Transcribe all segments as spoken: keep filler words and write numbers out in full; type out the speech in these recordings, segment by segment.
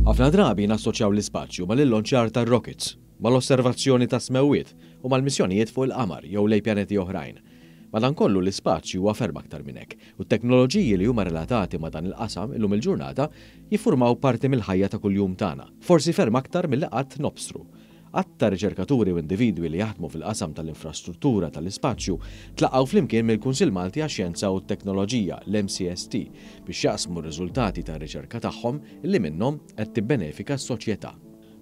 Ħafna drabi nassoċjaw l-ispazju mal-illonċjar tar-rockets, mal-osservazzjoni ta' smewwiet u mal-missjonijiet fuq il-qamar jew lejn pjaneti oħrajn. Madankollu, l-ispazju huwa ferm aktar minn hekk, u t-teknoloġiji li huma relatati ma' dan il-qasam illum il-ġurnata jiffurmaw parti mill-ħajja ta' kuljum tagħna, forsi ferm aktar milli qatt nobsru. Għadd ta' riċerkaturi u individwi li jaħdmu fil-qasam tal-infrastruttura tal-ispazju tlaqgħu flimkien mill-Kunsill Malti għax-Xjenza u t-Teknoloġija, l-M C S T, biex jaqsmu r-riżultati tar-riċerka tagħhom li minnhom qed tibbenefika s-soċjetà.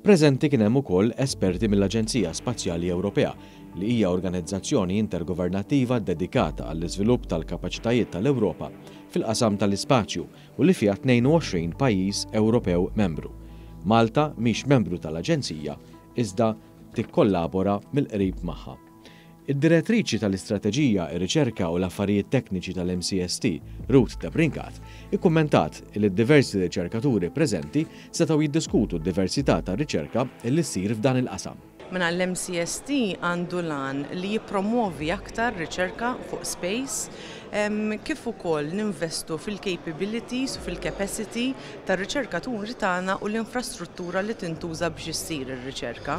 Preżenti kien hemm ukoll esperti mill-Aġenzija Spazjali Ewropea, li hija organizzazzjoni intergovernattiva dedikata għall-iżvilupp tal-kapaċitajiet tal-Ewropa fil-qasam tal-ispazju u li fiha tnejn u għoxrin pajjiż Ewropew membru. Malta mhix membru tal-Aġenzija, iżda tikkollabora mill-qrib magħha. Id-direttriċi tal-Istrateġija, ir-Riċerka u l-Affarijiet Tekniċi tal-M C S T, Ruth Debrincat, ikkummentat li diversi riċerkaturi preżenti setgħu jiddiskutu d-diversità tar-riċerka li ssir f'dan il-qasam. Mela, l-M C S T għandu l-għan li jipromuovi aktar riċerka fuq space, kif ukoll ninvestu fil-capabilities u fil-capacity tar-riċerkaturi tagħna u l-infrastruttura li tintuża biex issir ir-riċerka.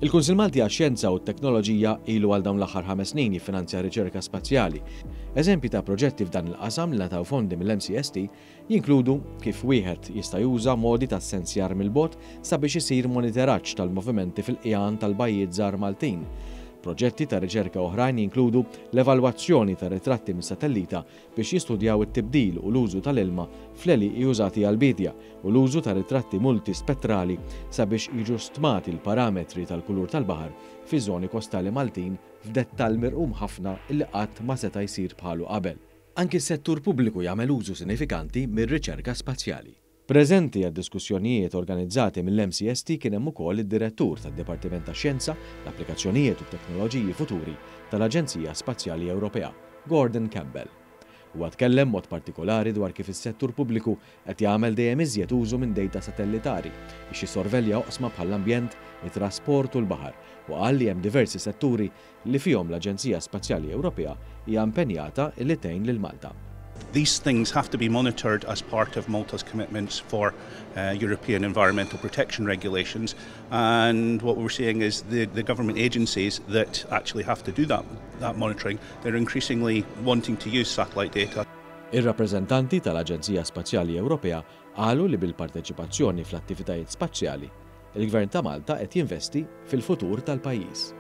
Il-Kunsil Malti għax-Xjenza u t-Teknoloġija ilu għal dawn l-aħħar ħames snin jiffinanzja riċerka spazjali. Eżempji ta' proġetti f'dan il-qasam li ngħataw fondi mill-M C S T jinkludu kif wieħed jista' juża modi ta' sensjar mill-bogħod sabiex isir monitoraġġ tal-movimenti fil-qjan tal-bajjiet żgħar Maltin. Proġetti ta' riċerka oħrajn jinkludu l-evalwazzjoni ta' ritratti mis-satellita biex jistudjaw it-tibdil u l-użu tal-ilma fl-għelieqi użati għal-bidja u l-użu ta' ritratti multispettrali sabiex jiġu stmati l-parametri tal-kulur tal-baħar fi żoni kostali Maltin f'dettall mirqum ħafna illi qatt ma seta' jsir bħalu qabel. Anki s-settur pubbliku jagħmel użu sinifikanti mir-riċerka spazjali. Preżenti għad diskussjonijiet organizzati mill-M C S T kien hemm ukoll id-direttur tad-Dipartiment ta' Xjenza, l-Applikazzjonijiet u Teknoloġiji Futuri tal-Aġenzija Spazjali Ewropea, Gordon Campbell. Huwa tkellem mod partikolari dwar kif is-settur pubbliku qed jagħmel dejjem iżjed użu minn data satellitari biex jissorvelja oqsma bħall-ambjent, it-trasport u l-baħar, u qal li hemm diversi setturi li fihom l-Aġenzija Spazjali Ewropea hija impenjata li tgħin lil Malta. These things have to be monitored as part of Malta's commitments for uh, European environmental protection regulations, and what we're seeing is the, the government agencies that actually have to do that, that monitoring, they're increasingly wanting to use satellite data. Ir-rappreżentanti tal-Aġenzija Spazjali Ewropea qalu li bil-parteċipazzjoni fl-attivitajiet spazjali, il-Gvern ta' Malta qed jinvesti fil-futur tal-pajjiż.